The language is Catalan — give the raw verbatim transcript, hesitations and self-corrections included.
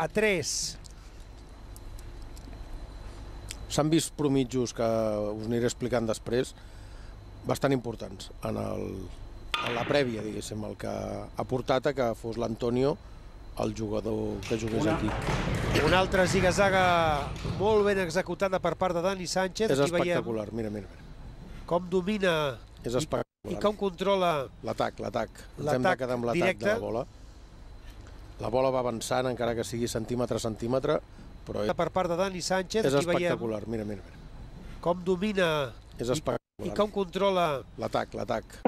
a tres. S'han vist promitjos que us aniré explicant després, bastant importants en, el, en la prèvia, diguéssim, el que ha portat a que fos l'Antonio el jugador que jugués aquí. Una altra ziga-zaga molt ben executada per part de Dani Sánchez. És espectacular, mira, mira. Com domina és i com controla l'atac, l'atac. Ens hem de quedar amb l'atac de la bola. La bola va avançant, encara que sigui centímetre a centímetre, però per part de Dani Sánchez. És espectacular, mira, mira. Com domina és espectacular. i com controla l'atac, l'atac.